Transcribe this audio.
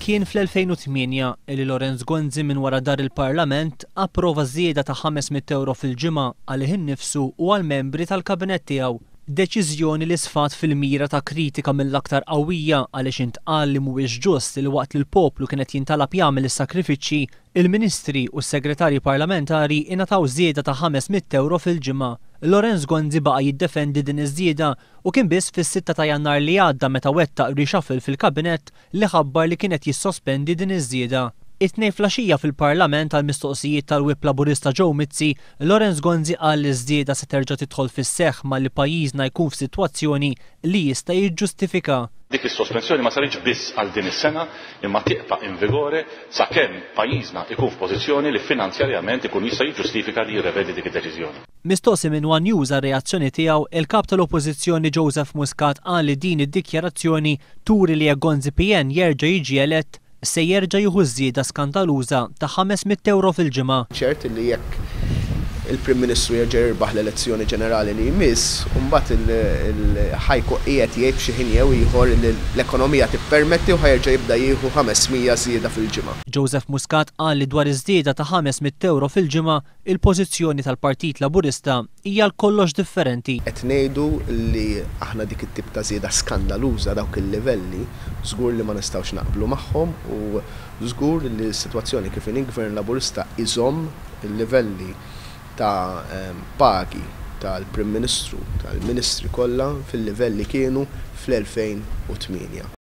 Kien fl-2008 li Lawrence Gonzi minn wara dar il-Parlament approva żieda ta' 500 ewro fil-ġimgħa għalih innifsu u għall-membri tal-kabinett tiegħu. Deċiżjoni li sfat fil-mira ta' kritika mill-aktar qawwija għaliex intqal li mhuwiex ġust li waqt li l-poplu kien qed jintalab jagħmel is-sakrifiċċji, il-Ministri u s-Segretarji Parlamentari ingħataw żieda ta' 500 ewro fil-ġimgħa. Lawrence Gonzi baqa' jiddefendi din iż-żieda u kien biss fis-sitta ta' Jannar li għadda meta wettaq reshuffle fil-Kabinett li ħabbar li kien qed jissospendi din iż-żieda. It-Tnejn flaxija fil-Parlament għall-mistoqsijiet tal-Whip Laburista Joe Mizzi, Lawrence Gonzi qal li ż-żieda se terġa' tidħol fis-seħħ malli pajjiżna jkun f'sitwazzjoni li jista' jiġġustifika. Dik is-sospensjoni ma saritx biss għal din is-sena imma tibqa' in vigore sakemm pajjiżna ikun f'pożizzjoni li finanzjarjament ikun jista' jiġġustifika li jirrevedi dik id-deċiżjoni. Mistoqsi minn one News għar-reazzjoni tiegħu, il-Kap tal-Oppożizzjoni Joseph Muscat qal li din id-dikjarazzjoni turi li jekk Gonzi PN jerġa' jiġi elett, se jerġa' jieħu ż-żieda skandaluża ta' 500 ewro fil-ġimgħa. Ċert li jekk il-Prim Ministru jerġa' jirbaħ l-elezzjoni ġenerali li jmiss, imbagħad ħa jkun qiegħed jgħid f'xi ħin jew ieħor li l-ekonomija tippermetti u ħa jerġa' jibda jieħu 500 żieda fil-ġimgħa. Joseph Muscat qal li dwar iż-żieda ta' 500 ewro fil-ġimgħa, il-pożizzjoni tal-Partit Laburista hija għal kollox differenti. Qed ngħidu li aħna dik it-tip ta' żieda skandaluża, dawk il-livelli, żgur li ma nistgħux naqblu magħhom u żgur li s-sitwazzjoni kif inhi Gvern Laburista iżomm il-livelli ta' pagi tal-Prim Ministru, tal-Ministri kollha fil-livell li kienu fl-2008.